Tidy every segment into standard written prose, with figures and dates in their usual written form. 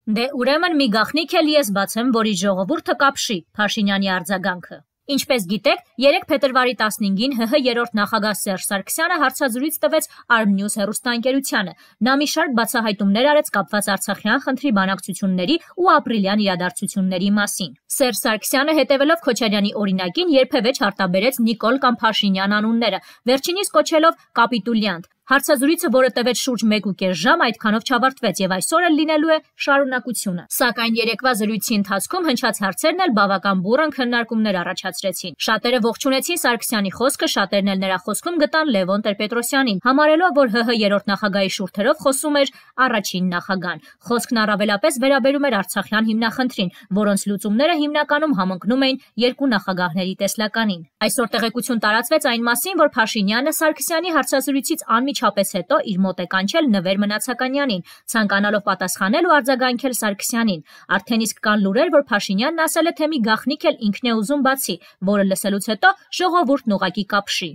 Դե ուրեմն մի գաղտնիք էլ ես բացեմ, որի ժողովուրդը կապշի, Փաշինյանի արձագանքը։ Ինչպես գիտեք, 3 փետրվարի 15-ին ՀՀ երրորդ նախագահ Սերժ Սարգսյանը հարցազրույց տվեց Armnews հեռուստաընկերությանը։ Նա մի շարք բացահայտումներ արեց կապված Արցախյան խնդրի բանակցությունների ու ապրիլյան իրադարձությունների մասին։ Սերժ Սարգսյանը, հետևելով Քոչարյանի օրինակին, երբևէ չարտաբերեց Նիկոլ կամ Փաշինյան անունները, վերջինիս կոչելով կապիտուլյանտ։ Հարցազրույցը, որը տևեց շուրջ 1.5 ժամ, այդքանով չավարտվեց եւ այսօր էլ լինելու է շարունակությունը։ Սակայն երեկվա զրույցի ընթացքում հնչած հարցերն էլ բավական բուռն քննարկումներ առաջացրեցին։ Շատերը ողջունեցին Սարգսյանի խոսքը, շատերն էլ նրա խոսքում գտան Լևոն Տեր-Պետրոսյանին, համարելով, որ ՀՀ երրորդ նախագահի շուրթերով խոսում էր առաջին նախագահան։ Խոսքն առավելապես վերաբերում էր Արցախյան հիմնախնդրին, որոնց լուծումները հիմնականում համընկնում էին երկու նախագահների տեսլականին։ Այսօր տեղեկություն տարածվեց այն մասին, որ Փաշինյանը Սարգսյանի հարցազրույցից անմիջապես հետո իր մոտ է կանչել Նվեր Մնացականյանին, ցանկանալով պատասխանել ու արձագանքել Սարգսյանին։ Արդեն իսկ կան լուրեր, որ Փաշինյանն ասել է, թե մի գաղտնիք էլ ինքն է ուզում բացի, որը լսելուց հետո ժողովուրդն ուղղակի կապշի։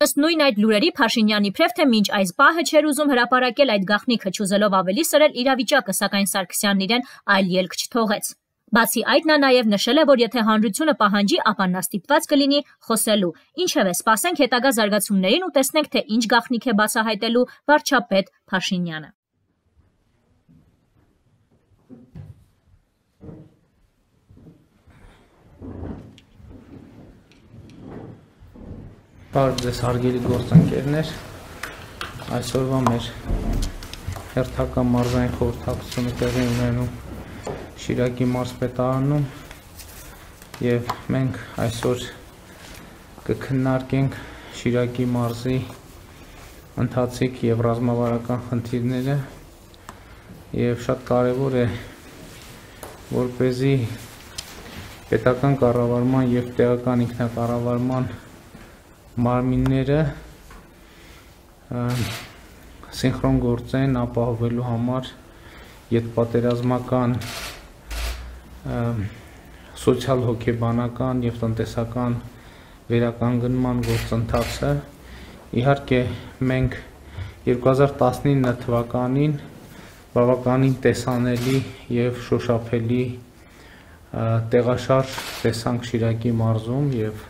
Ըստ նույն այդ լուրերի Փաշինյանի իբրև թե մինչ այս պահը չէր ուզում հրապարակել այդ գաղտնիքը, չուզելով ավելի սրել իրավիճակը, սակայն Սարգսյանն իրեն այլ ելք չթողեց։ Բացի այդ, նա նաև նշել է, որ եթե հանրությունը պահանջի, ապա նա ստիպված կլինի խոսելու։ Ինչևէ, սպասենք հետագա զարգացումներին ու տեսնենք, թե ինչ գաղտնիք է բացահայտելու վարչապետ Փաշինյանը։ Բարև ձեզ հարգելի գործընկերներ, այսօրվա մեր հերթական մարզային խորհրդակցությունը տեղի ունենում Շիրակի մարզպետարանում եւ մենք այսօր կքննարկենք Շիրակի մարզի ընթացիկ եւ ռազմավարական խնդիրները եւ շատ կարեւոր է որպեսզի պետական կառավարման եւ տեղական ինքնակառավարման մարմինները սինխրոն գործեն ապահովելու համար յետպատերազմական սոցիալ հոգեբանական եւ տնտեսական վերականգնման գործընթացը։ Իհարկե մենք 2019 թվականին բավականին տեսանելի եւ շոշափելի տեղաշարժ տեսանք Շիրակի մարզում եւ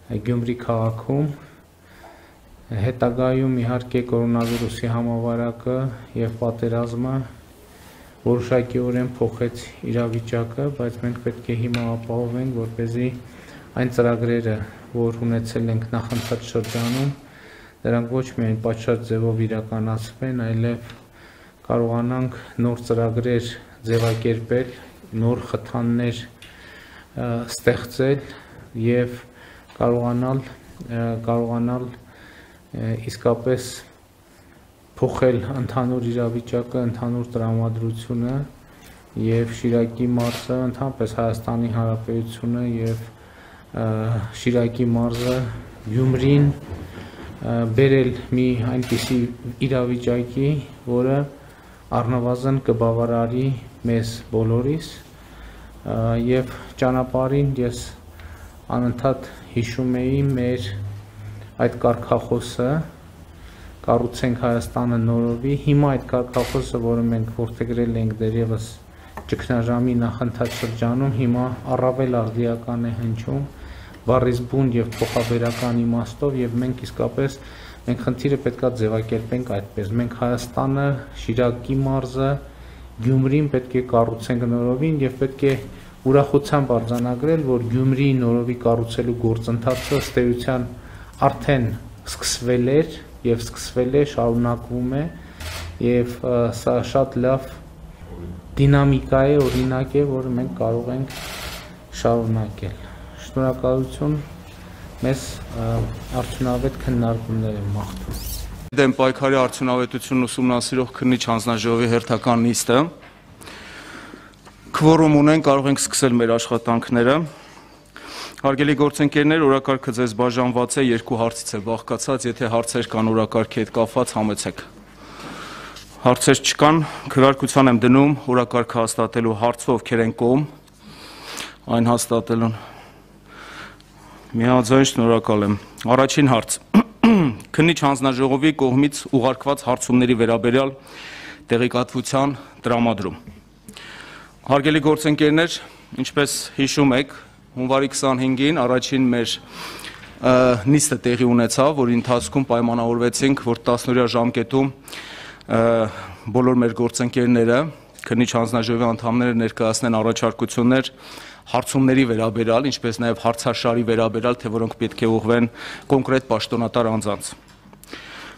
Գյումրի քաղաքում, հետագայում իհարկե կորոնավիրուսի համավարակը եւ պատերազմը որոշակիորեն փոխեց իրավիճակը, բայց մենք պետք է հիմա ապահովենք, որպեսզի այն ծրագրերը, որ ունեցել ենք նախընթաց շրջանում, դրանք ոչ միայն պատշաճ ձևով իրականացվեն, այլև կարողանանք նոր ծրագրեր ձևակերպել, նոր խթաններ ստեղծել եւ կարողանալ իսկապես փոխել ընդհանուր իրավիճակը, ընդհանուր տրամադրությունը եւ Շիրակի մարզը, ընդհանրապես Հայաստանի Հանրապետությունը եւ Շիրակի մարզը Գյումրին բերել մի այնպիսի իրավիճակի, որը առնվազն կբավարարի մեզ բոլորիս եւ ճանապարհին ես անընդհատ հիշում էի մեր այդ կարգախոսը կառուցենք Հայաստանը նորովի։ Հիմա այդ կարգախոսը, որը մենք որդեգրել ենք դեռևս ճգնաժամի նախընթաց շրջանում, հիմա առավել արդիական է հնչում բառից բուն եւ փոխաբերական իմաստով եւ մենք իսկապես մենք խնդիրը պետքա ձևակերպենք այդպես։ Մենք Հայաստանը, Շիրակի մարզը, Գյումրին պետք է կառուցենք նորովին եւ պետք է ուրախությամբ արձանագրել, որ Գյումրի նորովի կառուցելու գործընթացը ըստ էության արդեն սկսվել էր եւ սկսվել է, շարունակվում է եւ սա շատ լավ դինամիկա է, օրինակ է, որը մենք կարող ենք շարունակել։ Շնորհակալություն, մեզ արդյունավետ քննարկումներ եմ մաղթում։ Դեմ պայքարի արդյունավետությունն ուսումնասիրող քննիչ հանձնաժողովի հերթական նիստը Քվորում ունեն, կարող ենք սկսել մեր աշխատանքները։ Հարգելի գործընկերներ, օրակարգը ձեզ բաժանված է, երկու հարցից է բաղկացած, եթե հարցեր կան օրակարգի հետ կապված, համեցեք։ Հարցեր չկան, քվեարկության եմ դնում օրակարգը հաստատելու հարցը, ովքեր են կողմ այն հաստատելուն։ Միաձայն շնորհակալ եմ։ Առաջին հարց։ Քննիչ հանձնաժողովի կողմից ուղարկված հարցումների վերաբերյալ տեղեկատվության տրամադրում։ Հարգելի գործընկերներ, ինչպես հիշում եք, հունվարի 25-ին առաջին մեր նիստը տեղի ունեցավ, որի ընթացքում պայմանավորվեցինք, որ 10-օրյա ժամկետում բոլոր մեր գործընկերները, քննիչ հանձնաժողովի անդամները ներկայացնեն առաջարկություններ հարցումների վերաբերյալ, ինչպես նաև հարցաշարի վերաբերյալ, թե որոնք պետք է ուղղվեն կոնկրետ պաշտոնատար անձանց։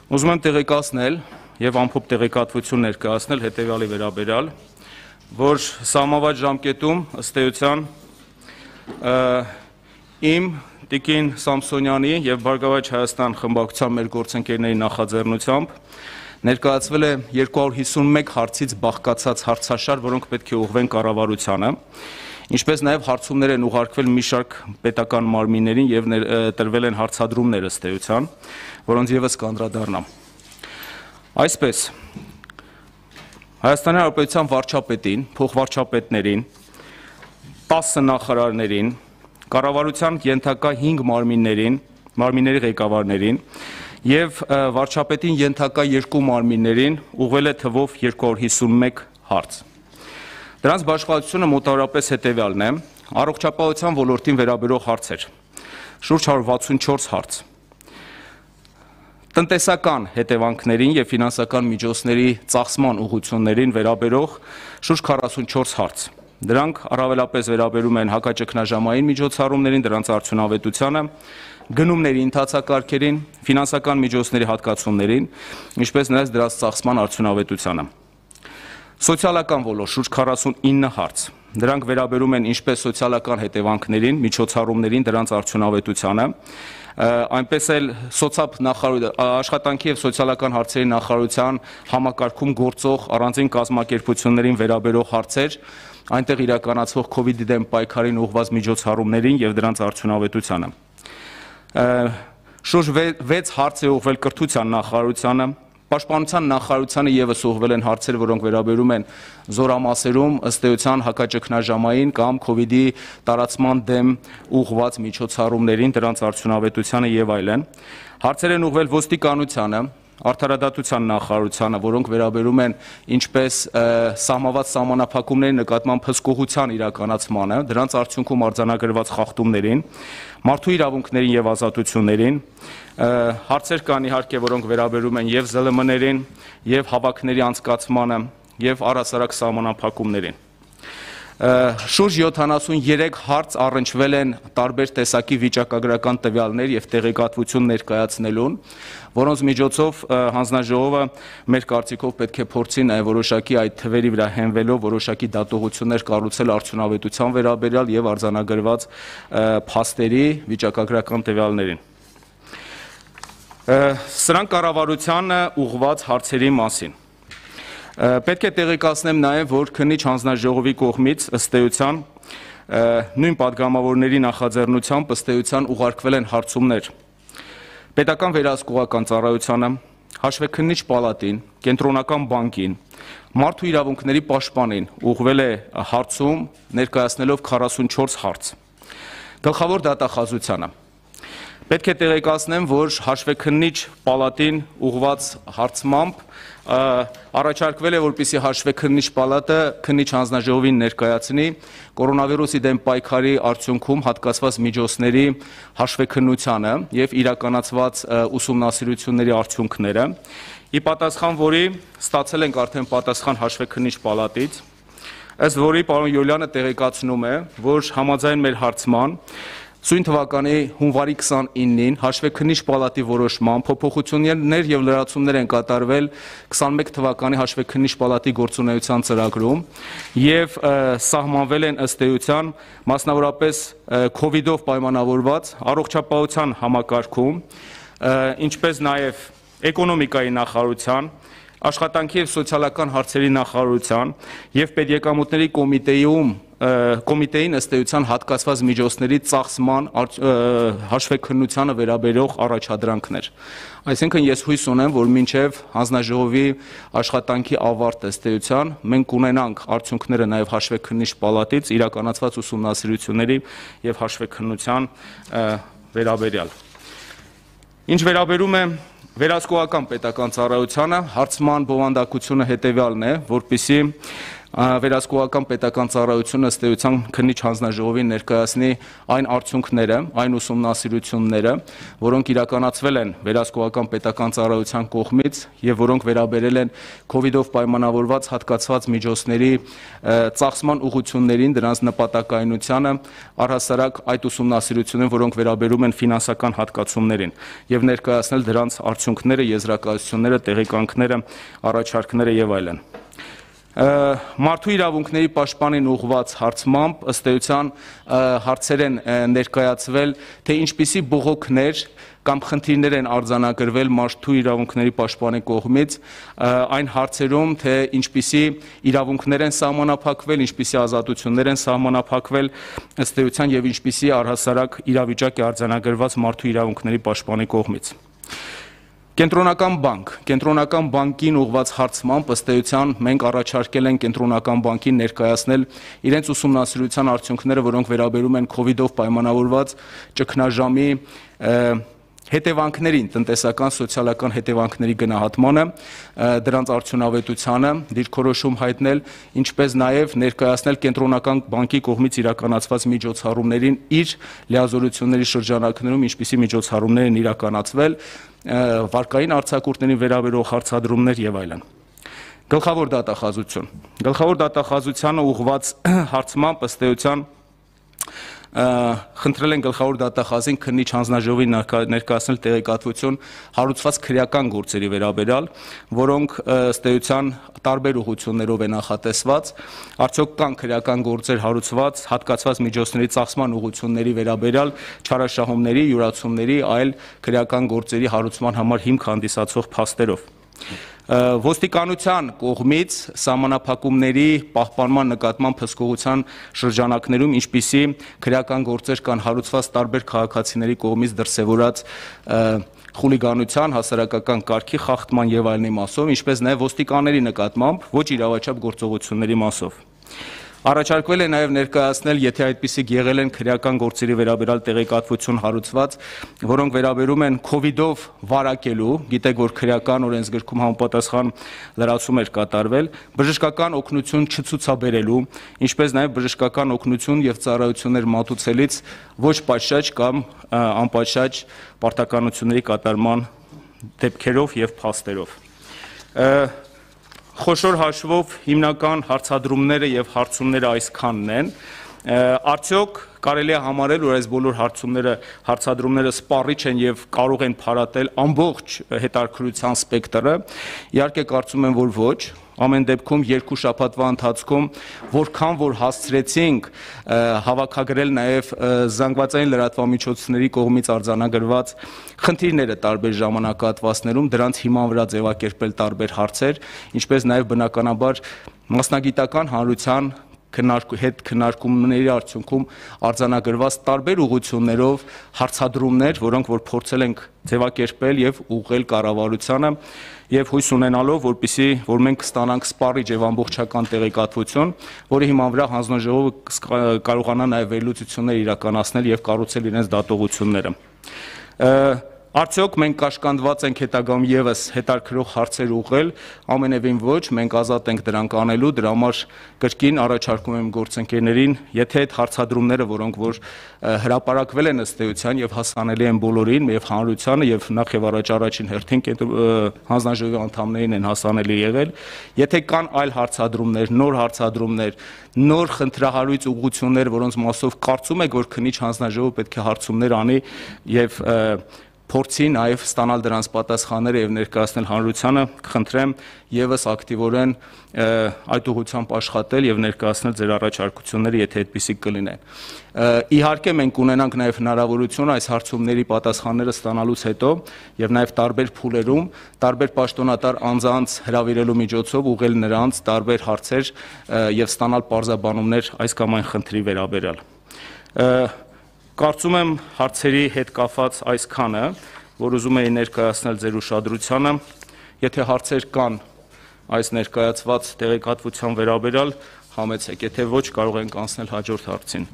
Ուզում եմ տեղեկացնել եւ ամփոփ տեղեկատվություն ներկայացնել հետեւյալի վերաբերյալ, որ սահմանված ժամկետում ըստ էության իմ Տիկին Սամսոնյանի եւ Բարգավաճ Հայաստան խմբակցության մեր գործընկերների նախաձեռնությամբ ներկայացվել է 251 հարցից բաղկացած հարցաշար, որոնք պետք է ուղղվեն կառավարությանը, ինչպես նաև հարցումներ են ուղարկվել մի շարք պետական մարմիններին եւ տրվել են հարցադրումներ ըստ էության, որոնց եւս կանդրադառնամ։ Այսպես Հայաստանի Հանրապետության վարչապետին, փոխվարչապետներին, 10 նախարարներին, կառավարության ենթակա 5 մարմինների ղեկավարներին եւ վարչապետին ենթակա 2 մարմիններին ուղղվել է թվով 251 հարց։ Դրանց բաշխվածությունը մոտավորապես հետեւյալն է. առողջապահության ոլորտին վերաբերող հարցեր, շուրջ 164 հարց, տնտեսական հետևանքներին եւ ֆինանսական միջոցների ծախսման ուղղություններին վերաբերող շուրջ 44 հարց։ Դրանք առավելապես վերաբերում են հակաճգնաժամային միջոցառումներին, դրանց արդյունավետությանը, գնումների ընթացակարգերին, ֆինանսական միջոցների հատկացումներին, ինչպես նաև դրանց ծախսման արդյունավետությանը։ Սոցիալական ոլորտ շուրջ 49 հարց։ Դրանք վերաբերում են ինչպես սոցիալական հետևանքներին, միջոցառումներին, դրանց արդյունավետությանը, այնպես էլ աշխատանքի եւ սոցիալական հարցերի նախարարության համակարգում գործող առանձին կազմակերպություններին վերաբերող հարցեր, այնտեղ իրականացվող COVID-ի դեմ պայքարին ուղղված միջոցառումներին եւ դրանց արդյունավետությանը։ Շուրջ 6 հարց է ուղղվել կրթության նախարարությանը, Պաշտպանության նախարարությանը եւս ուղղվել են հարցեր, որոնք վերաբերում են զորամասերում ըստ էության հակաճգնաժամային կամ COVID-ի տարածման դեմ ուղղված միջոցառումներին, դրանց արդյունավետությանը եւ այլն։ Հարցեր են ուղղվել ոստիկանությանը, Արդարադատության նախարարությանը, որոնք վերաբերում են ինչպես սահմանված սահմանափակումների նկատմամբ հսկողության իրականացմանը, դրանց արդյունքում արձանագրված խախտումներին, մարդու իրավունքներին եւ ազատություններին, հարցեր կան իհարկե, որոնք վերաբերում են եւ ԶԼՄ-ներին, եւ հավաքների անցկացմանը, եւ առհասարակ սահմանափակումներին։ Շուրջ 73 հարց առնչվել են տարբեր տեսակի վիճակագրական տվյալներ եւ տեղեկատվություն ներկայացնելուն, որոնց միջոցով հանձնաժողովը մեր կարծիքով պետք է փորձի նաեւ որոշակի այդ թվերի վրա հենվելով որոշակի դատողություններ կառուցել արդյունավետության վերաբերյալ եւ արձանագրված փաստերի վիճակագրական տվյալներին։ Սրանք կառավարությանը ուղղված հարցերի մասին։ Պետք է տեղեկացնեմ նաև, որ քննիչ հանձնաժողովի կողմից ըստ էության նույն падգամավորների նախաձեռնությամբ ըստ էության ուղարկվել են հարցումներ Պետական վերահսկողական ծառայությանը, Հաշվեկննիչ պալատին, Կենտրոնական բանկին, Մարդու իրավունքների պաշտպանին ուղղվել է հարցում ներկայացնելով 44 հարց։ Գլխավոր դատախազությանը Պետք է տեղեկացնեմ, որ Հաշվեկննիչ պալատին ուղղված հարցմամբ առաջարկվել է, որպեսզի Հաշվեկննիչ պալատը քննիչ հանձնաժողովին ներկայացնի կորոնավիրուսի դեմ պայքարի արդյունքում հատկացված միջոցների հաշվեկնությանը եւ իրականացված ուսումնասիրությունների արդյունքները, ի պատասխան որի ստացել ենք արդեն պատասխան Հաշվեկննիչ պալատից, ըստ որի պարոն Յոլյանը տեղեկացնում է, որ համաձայն մեր հարցման Սույն թվականի հունվարի 29-ին Հաշվեկննիչ պալատի որոշմամբ փոփոխություններ եւ լրացումներ են կատարվել 21 թվականի Հաշվեկննիչ պալատի գործունեության ծրագրում եւ սահմանվել են ըստ էության մասնավորապես COVID-ով պայմանավորված առողջապահության համակարգում, ինչպես նաեւ էկոնոմիկայի նախարարության, Աշխատանքի եւ սոցիալական հարցերի նախարարության եւ Պետեկամուտների կոմիտեին ըստ էության հատկացված միջոցների ծախսման հաշվեկնությանը վերաբերող առաջադրանքներ։ Այսինքն ես հույս ունեմ, որ մինչեւ հանձնաժողովի աշխատանքի ավարտը ըստ էության մենք կունենանք արդյունքները նաեւ Հաշվեկննիչ պալատից իրականացված ուսումնասիրությունների եւ հաշվեկնության վերաբերյալ։ Ինչ վերաբերում է Վերահսկողական պետական ծառայությանը հարցման բովանդակությունը հետևյալն է, որպեսզի Վերահսկողական պետական ծառայությունը ըստ էության քննիչ հանձնաժողովին ներկայացնի այն արդյունքները, այն ուսումնասիրությունները, որոնք իրականացվել են վերահսկողական պետական ծառայության կողմից եւ որոնք վերաբերել են COVID-ով պայմանավորված հատկացված միջոցների ծախսման ուղղություններին, դրանց նպատակայնությանը, առհասարակ այդ ուսումնասիրությունները, որոնք վերաբերում են ֆինանսական հատկացումներին եւ ներկայացնել դրանց արդյունքները, եզրակացությունները, տեղեկանքները, առաջարկները եւ այլն։ Մարդու իրավունքների պաշտպանին ուղղված հարցմամբ ըստ էության հարցեր են ներկայացվել, թե ինչպիսի բողոքներ կամ խնդիրներ են արձանագրվել մարդու իրավունքների պաշտպանի կողմից այն հարցերում, թե ինչպիսի իրավունքներ են սահմանափակվել, ինչպիսի ազատություններ են սահմանափակվել ըստ էության եւ ինչպիսի առհասարակ իրավիճակ է արձանագրված մարդու իրավունքների պաշտպանի կողմից։ Կենտրոնական բանկին ուղղված հարցմամբ ըստ էության մենք առաջարկել ենք կենտրոնական բանկին ներկայացնել իրենց ուսումնասիրության արդյունքները, որոնք վերաբերում են COVID-ով պայմանավորված ճգնաժամի հետևանքներին, տնտեսական, սոցիալական հետևանքների գնահատմանը, դրանց արդյունավետությանը, դիրքորոշում հայտնել, ինչպես նաև ներկայացնել կենտրոնական բանկի կողմից իրականացված միջոցառումներին իր լիազորությունների շրջանակներում ինչպիսի միջոցառումներ են իրականացվել, վարկային արձակուրդներին վերաբերող հարցադրումներ եւ այլն։ Գլխավոր դատախազությանը ուղղված հարցմամբ ըստ էության խնդրել են գլխավոր դատախազին քննիչ հանձնաժողովին ներկայացնել տեղեկատվություն հարուցված քրեական գործերի վերաբերյալ, որոնք ըստ էության տարբեր ուղղություններով են նախատեսված, արդյոք կան քրեական գործեր հարուցված հատկացված միջոցների ծախսման ուղղությունների վերաբերյալ չարաշահումների, յուրացումների, այլ քրեական գործերի հարուցման համար հիմք հանդիսացող փաստերով։ Ոստիկանության կողմից սահմանափակումների պահպանման նկատմամբ հսկողության շրջանակներում ինչպիսի քրեական գործեր կան հարուցված տարբեր քաղաքացիների կողմից դրսևորած խուլիգանության, հասարակական կարգի խախտման եւ այլնի մասով, ինչպես նաեւ ոստիկանների նկատմամբ ոչ իրավաչափ գործողությունների մասով։ Առաջարկվել է նաև ներկայացնել, եթե այդպիսիք եղել են քրեական գործերի վերաբերյալ տեղեկատվություն հարուցված, որոնք վերաբերում են COVID-ով վարակելու, գիտեք, որ քրեական օրենսգրքում համապատասխան լրացում էր կատարվել, բժշկական օգնություն չցուցաբերելու, ինչպես նաև բժշկական օգնություն եւ ծառայություններ մատուցելիս ոչ պատշաճ կամ անպատշաճ պարտականությունների կատարման դեպքերով եւ փաստերով։ Խոշոր հաշվով հիմնական հարցադրումները եւ հարցումները այսքանն են։ Արդյոք կարելի է համարել, որ այս բոլոր հարցադրումները սպառիչ են եւ կարող են փարատել ամբողջ հետաքրքրության սպեկտրը։ Իհարկե կարծում եմ, որ ոչ։ Ամեն դեպքում երկու շաբաթվա ընթացքում որքան որ հասցրեցինք հավաքագրել նաև զանգվածային լրատվամիջոցների կողմից արձանագրված խնդիրները տարբեր ժամանակահատվածներում, դրանց հիման վրա ձևակերպել տարբեր հարցեր, ինչպես նաև բնականաբար մասնագիտական հանրության հետ քննարկումների արդյունքում արձանագրված տարբեր ուղղություններով հարցադրումներ, որոնք որ փորձել ենք ձևակերպել եւ ուղղել կառավարությանը եւ հույս ունենալով, որ մենք կստանանք սպառիչ եւ ամբողջական տեղեկատվություն, որի հիման վրա հանձնաժողովը կարողանա նաեւ վերլուծություններ իրականացնել եւ կառուցել իրենց դատողությունները։ Արդյոք մենք կաշկանդված ենք հետագայում եւս հետաքրքրող հարցեր ուղղել, ամենևին ոչ, մենք ազատ ենք դրանք անելու, դրա համար կրկին առաջարկում եմ գործընկերներին, եթե այդ հարցադրումները, որոնք որ հրապարակվել են ըստ էության եւ հասանելի են բոլորին, եւ հանրությանը եւ նախ եւ առաջ առաջին հերթին հանձնաժողովի անդամներին են հասանելի եղել, եթե կան այլ հարցադրումներ, նոր խնդրահարույց ուղղություններ, որոնց մասով կարծում եք, որ քննիչ հանձնաժողովը պետք է հարցումներ անի եւ փորձի նաև ստանալ դրանց պատասխանները եւ ներկայացնել հանրությանը, կխնդրեմ եւս ակտիվորեն այդ ուղղությամբ աշխատել եւ ներկայացնել ձեր առաջարկությունները, եթե այդպիսիք կլինեն։ Իհարկե մենք ունենանք նաև հնարավորություն այս հարցումների պատասխանները ստանալուց հետո եւ նաև տարբեր փուլերում, տարբեր պաշտոնատար անձանց հրավիրելու միջոցով ուղղել նրանց տարբեր հարցեր եւ ստանալ պարզաբանումներ այս կամ այն խնդրի վերաբերյալ։ Կարծում եմ հարցերի հետ կապված այսքանը, որ ուզում էի ներկայացնել ձեր ուշադրությանը, եթե հարցեր կան այս ներկայացված տեղեկատվության վերաբերյալ, համեցեք, եթե ոչ, կարող ենք անցնել հաջորդ հարցին։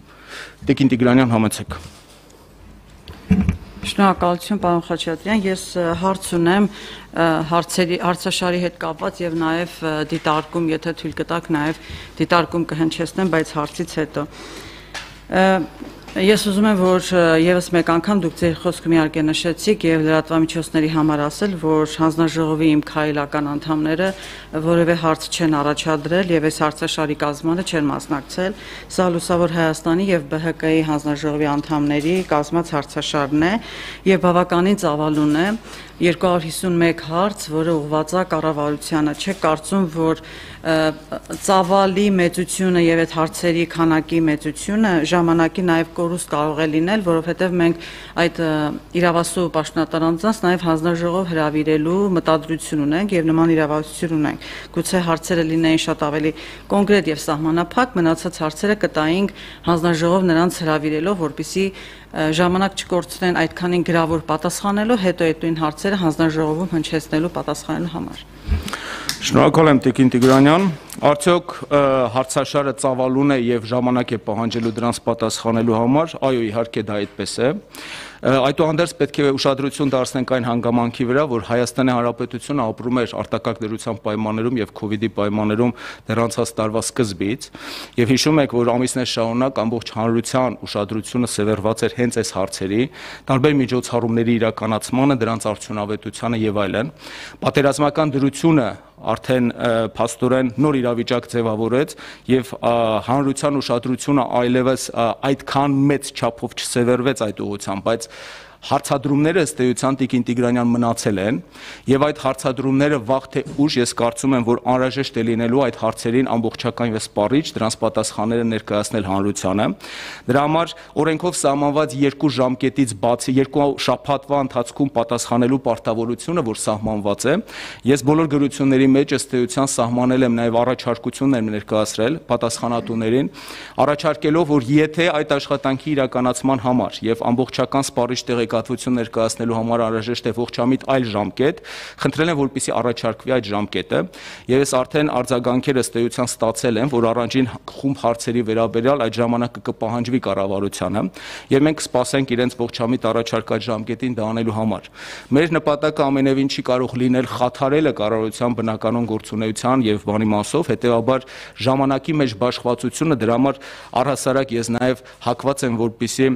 Տիկին Տիգրանյան, համեցեք։ Շնորհակալություն, պարոն Խաչատրյան, ես հարց ունեմ հարցաշարի հետ կապված եւ նաեւ դիտարկում, եթե թույլ կտաք, նաեւ դիտարկում կհնչեցնեմ, բայց հարցից հետո Ես ուզում եմ, որ եւս մեկ անգամ դուք ձեր խոսքում իհարկե նշեցիք եւ լրատվամիջոցների համար ասել, որ հանձնաժողովի իմ քայլական անդամները որևէ հարց չեն առաջադրել եւ այս հարցաշարի կազմանը չեն մասնակցել։ Սա Լուսավոր Հայաստանի եւ ԲՀԿ-ի հանձնաժողովի անդամների կազմած հարցաշարն է եւ բավականին ծավալուն է։ 251 հարց, որը ուղղված է կառավարությանը, չէ կարծում, որ ծավալի մեծությունը եւ այդ հարցերի քանակի մեծությունը ժամանակի նաեւ կորուստ կարող է լինել, որովհետեւ մենք այդ իրավասու պաշտոնատար անձանց նաեւ հանձնաժողով հրավիրելու մտադրություն ունենք եւ նման իրավասություն ունենք։ Գուցե հարցերը լինեին շատ ավելի կոնկրետ եւ սահմանափակ, մնացած հարցերը կտայինք հանձնաժողով նրանց հրավիրելով, որպեսզի ժամանակ չկորցնեն այդքանին գրավոր պատասխանելու, հետո այդ նույն հարցերը հանձնաժողովում հնչեցնելու պատասխանելու համար։ Շնորհակալ եմ Տիկին Տիգրանյան, արդյոք հարցաշարը ծավալուն է եւ ժամանակ է պահանջելու դրանց պատասխանելու համար, այո իհարկե դա այդպես է։ Այդուհանդերձ պետք է ուշադրություն դարձնենք այն հանգամանքի վրա, որ Հայաստանի Հանրապետությունը ապրում էր արտակարգ դրության պայմաններում եւ Քովիդի պայմաններում դեռ անցած տարվա սկզբից, եւ հիշում եք, որ ամիսներ շարունակ ամբողջ հանրության ուշադրությունը սևեռված էր հենց այս հարցերի, տարբեր միջոցառումների իրականացմանը, դրանց արդյունավետությանը եւ այլն։ Պատերազմական դրությունը արդեն փաստորեն նոր իրավիճակ ձևավորեց եւ հանրության ուշադրությունը այլևս այդքան մեծ չափով չսևեռվեց այդ ուղղությամբ, բայց հարցադրումները ըստ էության Տիկին Տիգրանյան մնացել են եւ այդ հարցադրումները վաղ թե ուշ ես կարծում եմ, որ անհրաժեշտ է լինելու այդ հարցերին ամբողջական եւ սպառիչ դրանց պատասխանները ներկայացնել հանրությանը։ Դրա համար օրենքով սահմանված 2 ժամկետից բացի 2 շաբաթվա ընթացքում պատասխանելու պարտավորությունը, որ սահմանված է, ես բոլոր գրությունների մեջ ըստ էության սահմանել եմ նաեւ առաջարկություններ ներկայացրել պատասխանատուներին, առաջարկելով, որ եթե այդ աշխատանքի իրականացման համար եւ ամբողջական սպառիչ տեղեկատվություն ներկայացնելու համար անհրաժեշտ է ողջամիտ այլ ժամկետ, խնդրել եմ, որպեսզի առաջարկվի այդ ժամկետը, եւ ես արդեն արձագանքեր ըստ էության ստացել եմ, որ առանձին խումբ հարցերի վերաբերյալ այդ ժամանակը կպահանջվի կառավարությանը, եւ մենք կսպասենք իրենց ողջամիտ առաջարկած ժամկետին դա անելու համար։ Մեր նպատակը ամենևին չի կարող լինել խաթարելը կառավարության բնականon գործունեության եւ բանի մասով, հետեւաբար ժամանակի մեջ բաշխվածությունը դրա համար առհասարակ ես նաեւ հակված եմ, որպեսզի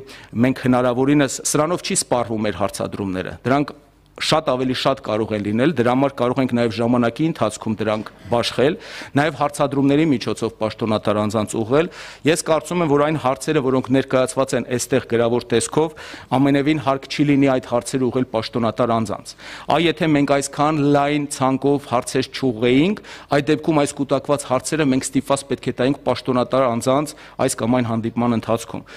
մենք հնարավորինս սրանով չի սպառվում մեր հարցադրումները, դրանք շատ ավելի շատ կարող են լինել, դրա համար կարող ենք նաև ժամանակի ընթացքում դրանք բաշխել, նաև հարցադրումների միջոցով պաշտոնատար անձանց ուղղել։ Ես կարծում եմ, որ այն հարցերը, որոնք ներկայացված են այստեղ գրավոր տեսքով, ամենևին հարկ չի լինի այդ հարցերը ուղղել պաշտոնատար անձանց։ Այ եթե մենք այսքան լայն ցանկով հարցեր չուղղեինք, այդ դեպքում այս կուտակված հարցերը մենք ստիպված պետք է տայինք պաշտոնատար անձանց այս կամ այն հանդիպման ընթացքում։